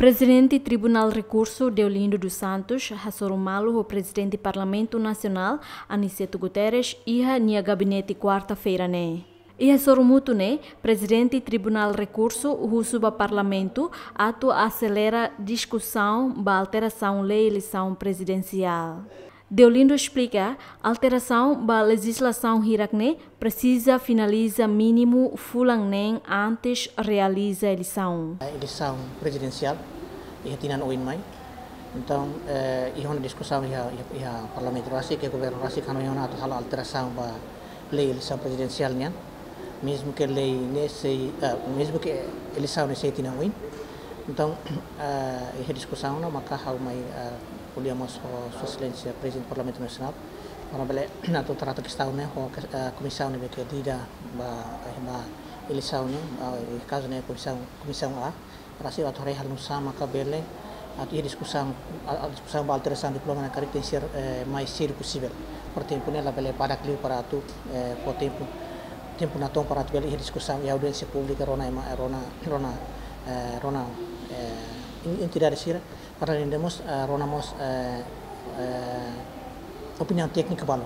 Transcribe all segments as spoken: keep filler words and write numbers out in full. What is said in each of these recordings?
Prezidente Tribunál Rekursu, Deolindo dos Santos, hasoru malu ho Prezidente Parlamentu Nasionál, Aniceto Guterres, iha nia gabinete kuarta-feira ne'e. Iha sorumutu ne'e, Prezidente Tribunál Rekursu husu ba Parlamentu atu aselera diskusaun ba alterasaun lei eleisaun prezidensiál. Deolindo esplika, alterasaun ba lejizlasaun hirak ne'e presiza finaliza mínimu fulan neen antes realiza eleisaun. Eleisaun prezidensiál iha tinan oin mai. Entaun, eh, iha ona diskusaun iha, iha, iha Parlamentu rasik, iha Governu rasik, hanoin ona atu halo alterasaun ba lei eleisaun prezidensiál nian. Mezmu ke lei ne'e sei, eh, mezmu ke eleisaun ne'e sei tinan oin. Entaun, eh, iha diskusaun ona maka ha'u mai, eh, ko'alia mós ho Sua Exelénsia Prezidente Parlamentu Nasionál, para bele atu trata kestaun ne'e ho, eh, komisaun ne'ebé ke lida ba, eh, ba eleisaun ne'e, eh, kazu ne'e komisaun, komisaun A, para sei atu haree halo nu'usá maka bele atu iha diskusaun, a, a, diskusaun ba alterasaun diploma ne'e karik tenke ser, eh, mais sedu posivel. Para tempu ne'e labele badak liu para atu, eh, fó tempu, tempu natoon para atu bele iha diskusaun iha audiénsia públika rona ema, rona, rona, eh, rona, eh, en-, entidade sira, para além de mós, eh, rona mós, eh, eh, opiniaun téknika balu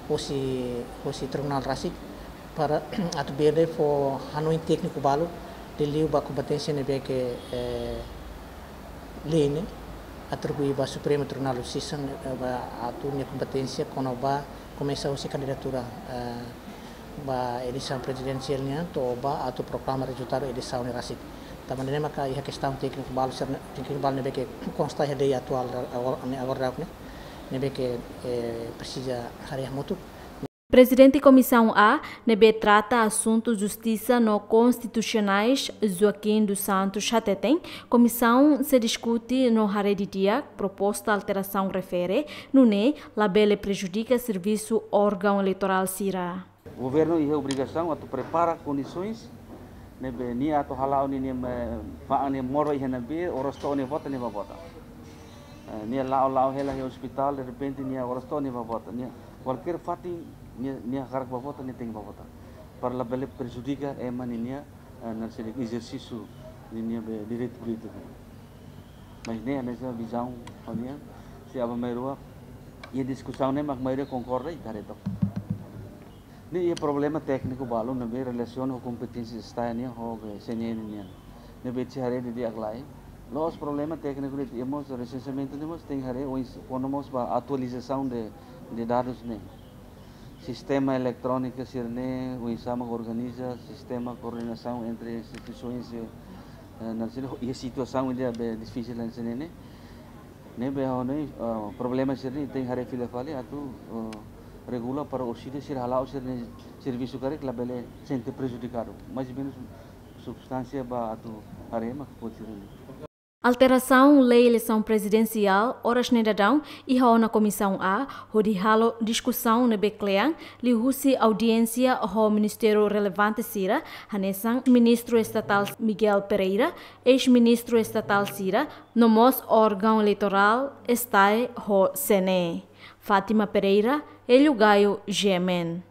hosi, hosi tribunál rasik, para atu bele fó hanoin tékniku balu liuliu ba kompeténsia ne'ebé ke, eh, lei ne'e atribui ba Supremu Tribunál Justisa, eh, ba atu nia kompeténsia kona-ba komesa hosi kandidatura, eh, ba eleisaun prezidensiál nian to'o ba atu proklama rezultadu eleisaun ne'e rasik. Tanba ne'e maka iha kestaun tékniku balu sira ne'e, tékniku balu ne'ebé ke konsta iha lei atuál agora, ne'e agora daudaun ne'e, ne'ebé ke, eh, presiza haree hamutuk. Prezidente Komisaun A, ne'ebé trata asuntu justisa no konstitusionais, Joaquim dos Santos hateten, komisaun sei diskute no haree didi'ak proposta alterasaun refere, nune'e labele prejudika servisu órgaun eleitorál sira. Governu iha obrigasaun atu prepara kondisoens ne'ebé nia atu hala'o ninia, eh, fa'an nia moru iha ne'ebé, oras to'o nia vota nia bá vota. Eh, nia la'o, la'o hela iha ospitál, derrepente nia oras to'o nia bá vota. Nia kualkér fatin nia, nia hakarak bá vota, nia tenke bá vota. Para labele prejudika ema ninia, eh, naran saida, ezersísiu ninia be direitu polítiku. Mas ne'e hanesan vizaun ha'u-nian, se aban-bainrua iha diskusaun ne'e mak maioria konkorda i haree took. Ne'e iha problema tékniku balu ne'ebé relasiona ho kompeténsia STAE nian ho be CNE nian. Ne'ebé sei haree didi'ak lai. La'ós problema tékniku de'it, iha mós resenseamentu ne'e mós tenke haree, oinsá, kona mós ba atualizasaun de, de dadus ne'e. Sistema eletróniku sira-ne'e, oinsá mak organiza, sistema koordenasaun entre instituisoens, eh, naran saida, iha situasaun ida be difisil hanesan ne'e. Ne'ebé ha'u hanoin, eh, problema sira-ne'e tenke haree fila fali atu, eh, regula para orsida sira hala'o sira-nia servisu karik labele sente prejudikadu. Mais ou menus substánsia ba atu haree mak buat sira-ne'e. Alterasaun lei eleisaun prezidensiál oras ne'e daudaun iha ona Komisaun A, hodi halo diskusaun ne'ebé kle'an, liuhusi audiénsia ho ministériu relevante sira, hanesan Ministru Estatál Miguel Pereira, eis-ministru estatál sira, no mós órgaun eleitorál, STAE ho CNE. Fátima Pereira, Hélio Gaio, G M N.